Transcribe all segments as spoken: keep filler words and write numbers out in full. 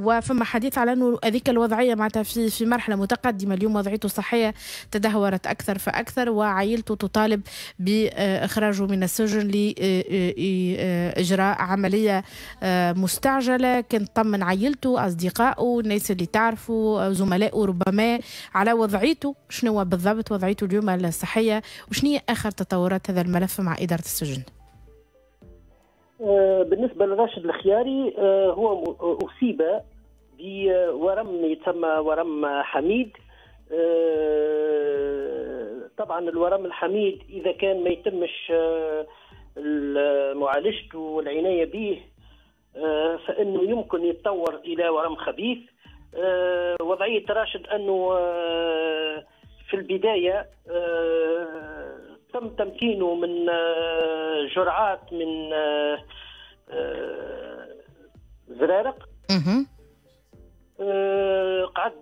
وفما حديث على انه هذيك الوضعية معناتها في في مرحلة متقدمة اليوم، وضعيته الصحية تدهورت اكثر فاكثر، وعائلته تطالب باخراجه من السجن لاجراء عملية مستعجله. كان طمن عائلته، اصدقائه، الناس اللي تعرفوا، زملائه ربما، على وضعيته، شنو بالضبط وضعيته اليوم الصحيه، وشنو هي اخر تطورات هذا الملف مع ادارة السجن؟ بالنسبة لراشد الخياري، هو اصيب بورم يتسمى ورم حميد. طبعا الورم الحميد اذا كان ما يتمش معالجته والعناية به فانه يمكن يتطور الى ورم خبيث. وضعية راشد انه في البداية تم تمكينه من جرعات من زرارق، قعد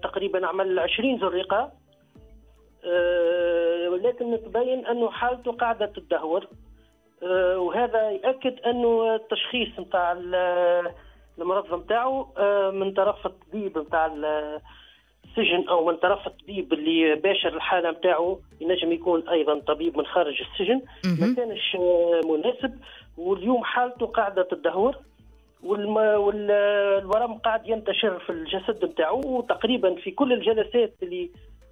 تقريبا عمل عشرين زريقه، ولكن تبين انه حالته قاعدة تدهور، وهذا ياكد انه التشخيص نتاع المرض نتاعو من طرف الطبيب نتاع السجن او من طرف الطبيب اللي باشر الحالة نتاعو، ينجم يكون ايضا طبيب من خارج السجن، ما كانش مناسب. واليوم حالته قاعدة تدهور، والورم قاعد ينتشر في الجسد نتاعو، وتقريبا في كل الجلسات اللي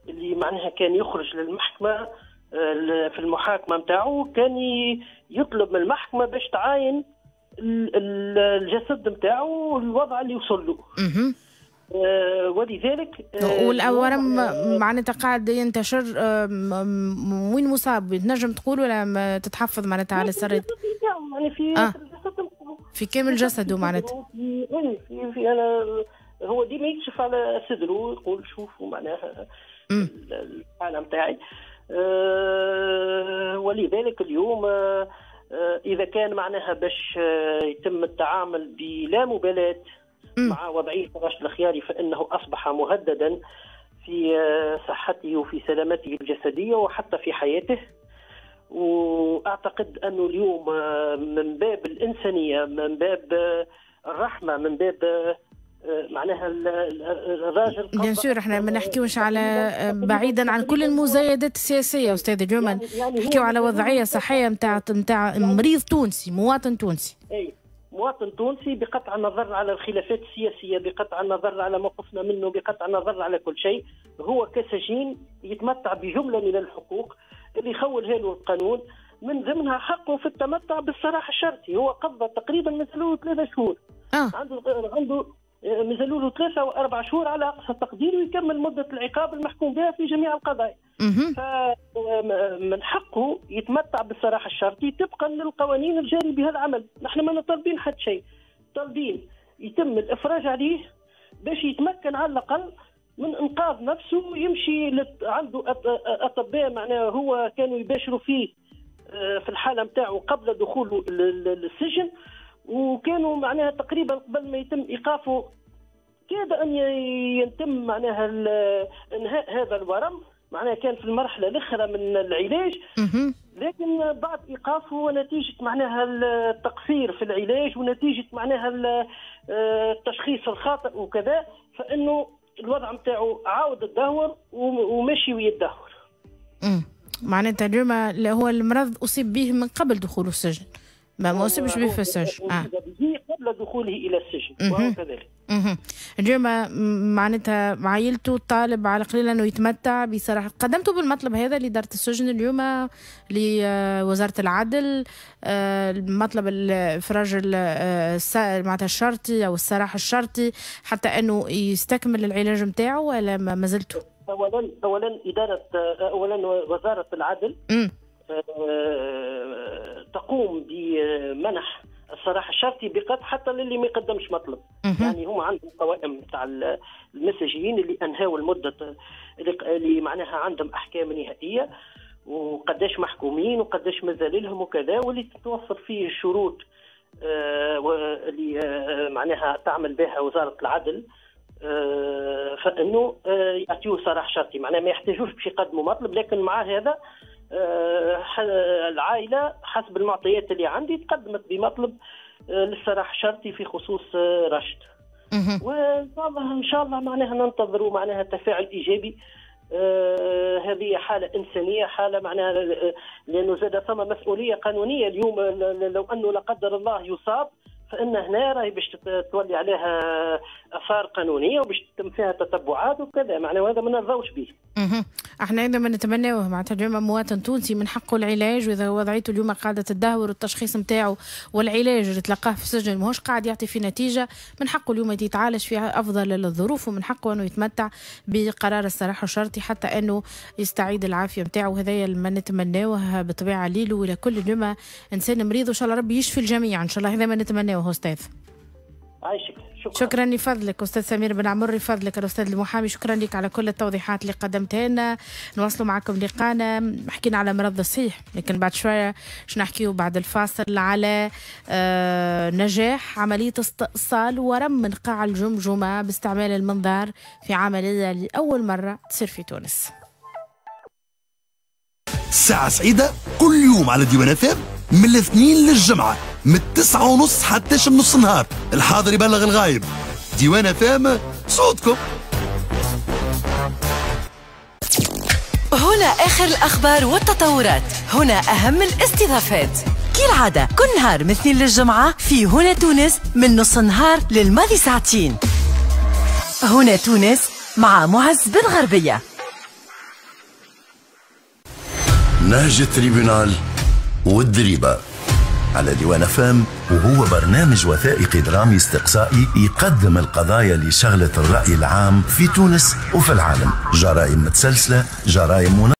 اللي معناها كان يخرج للمحكمة في المحاكمة نتاعو كان يطلب من المحكمة باش تعاين الجسد نتاعو والوضع اللي وصل له. آه ولذلك آه والورم معناتها قاعد ينتشر. آه وين مصاب تنجم تقول ولا تتحفظ معناتها على السرد؟ يعني في آه. في كامل جسده معناتها. في في, في انا هو ديما يكشف على صدره يقول شوفوا معناها الحالة نتاعي. أه ولذلك اليوم أه اذا كان معناها باش يتم التعامل بلا مبالاة مع وضعية راشد الخياري فانه اصبح مهددا في صحته وفي سلامته الجسدية وحتى في حياته. واعتقد انه اليوم من باب الانسانيه، من باب الرحمه، من باب معناها الراجل، bien sûr احنا ما نحكيوش على بعيدا عن كل المزايدات السياسية استاذ اليوم، يعني يعني نحكيو على وضعية صحية نتاع نتاع مريض تونسي، مواطن تونسي. اي مواطن تونسي، بقطع النظر على الخلافات السياسيه، بقطع النظر على موقفنا منه، بقطع النظر على كل شيء، هو كسجين يتمتع بجملة من الحقوق اللي يخولها له القانون، من ضمنها حقه في التمتع بالسراح الشرطي. هو قضى تقريبا مازالوا ثلاثة شهور. آه. عنده عنده مازالوا له ثلاثة وأربع شهور على أقصى التقدير ويكمل مدة العقاب المحكوم بها في جميع القضايا. فمن حقه يتمتع بالسراح الشرطي طبقا للقوانين الجاري بها العمل. نحن ما طالبين حتى شيء، طالبين يتم الإفراج عليه باش يتمكن على الأقل من إنقاذ نفسه، يمشي لت... عنده أطباء معناه هو كانوا يباشروا فيه في الحالة نتاعو قبل دخوله للسجن، وكانوا معناها تقريبا قبل ما يتم ايقافه كاد ان يتم معناها انهاء هذا الورم، معناها كان في المرحلة الاخرى من العلاج، لكن بعد ايقافه ونتيجة معناها التقصير في العلاج ونتيجة معناها التشخيص الخاطئ وكذا، فانه الوضع نتاعو عاود تدهور وماشي ويتدهور. معناتها اليوم هو المرض اصيب به من قبل دخوله السجن، ما ما أصيبش به في السجن. آه. قبل دخوله إلى السجن وهو كذلك. اليوم معناتها عائلته طالب على قليل أنه يتمتع بصراحة. قدمتوا بالمطلب هذا لإدارة السجن اليوم، لوزارة العدل، المطلب الإفراج معناتها الشرطي أو السراح الشرطي حتى أنه يستكمل العلاج نتاعو ولا ما زلتوا؟ أولا أولا إدارة أولا وزارة العدل م. تقوم بمنح السراح الشرطي بقطع حتى للي ما يقدمش مطلب. يعني هم عندهم قوائم تاع المساجين اللي انهاوا المدة، اللي معناها عندهم احكام نهائية وقداش محكومين وقداش مازال لهم وكذا، واللي تتوفر فيه الشروط اللي معناها تعمل بها وزارة العدل، فانه يعطيوه سراح شرطي، معناها ما يحتاجوش باش يقدموا مطلب. لكن مع هذا العائلة حسب المعطيات اللي عندي تقدمت بمطلب للسراح الشرطي في خصوص راشد. وان شاء الله ان شاء الله معناها ننتظروا معناها تفاعل ايجابي. آه هذه حاله انسانيه، حاله معناها لانه زاد ثم مسؤولية قانونية اليوم، لو انه لا قدر الله يصاب فان هنا راهي باش تولي عليها اثار قانونية وباش تتم فيها تتبعات وكذا، معناها هذا ما نرضاوش به. اها احنا هذا ما نتمناوه، معناتها اليوم مواطن تونسي من حقه العلاج، واذا وضعيته اليوم قاعدة تدهور والتشخيص نتاعو والعلاج اللي تلقاه في السجن ماهوش قاعد يعطي في نتيجة، من حقه اليوم يتعالج في افضل الظروف، ومن حقه انه يتمتع بقرار السراح الشرطي حتى انه يستعيد العافية نتاعو. هذايا ما نتمناوه بالطبيعة ليلة ولكل اليوم انسان مريض، وان شاء الله ربي يشفي الجميع ان شاء الله، هذا ما نتمناوه استاذ. عايشك. شكرا. شكرا لفضلك استاذ سمير بن عمر، لفضلك الاستاذ المحامي، شكرا لك على كل التوضيحات اللي قدمتها لنا. نواصلوا معكم لقانا، حكينا على مرض الصحيح، لكن بعد شوية باش نحكيو بعد الفاصل على آه نجاح عملية استئصال ورم من قاع الجمجمة باستعمال المنظار في عملية لاول مرة تصير في تونس. ساعة سعيدة كل يوم على ديوان اف ام من الاثنين للجمعة من التسعة ونص حتى نص النهار، الحاضر يبلغ الغايب. ديوان اف ام صوتكم. هنا آخر الأخبار والتطورات، هنا أهم الاستضافات كالعادة كل نهار من الاثنين للجمعة في هنا تونس من نص النهار للماضي ساعتين. هنا تونس مع معز بن غربية. نهج ال tribunal والدريبة على ديوان اف ام، وهو برنامج وثائقي درامي استقصائي يقدم القضايا اللي شغلت الرأي العام في تونس وفي العالم، جرائم متسلسلة، جرائم منظمة.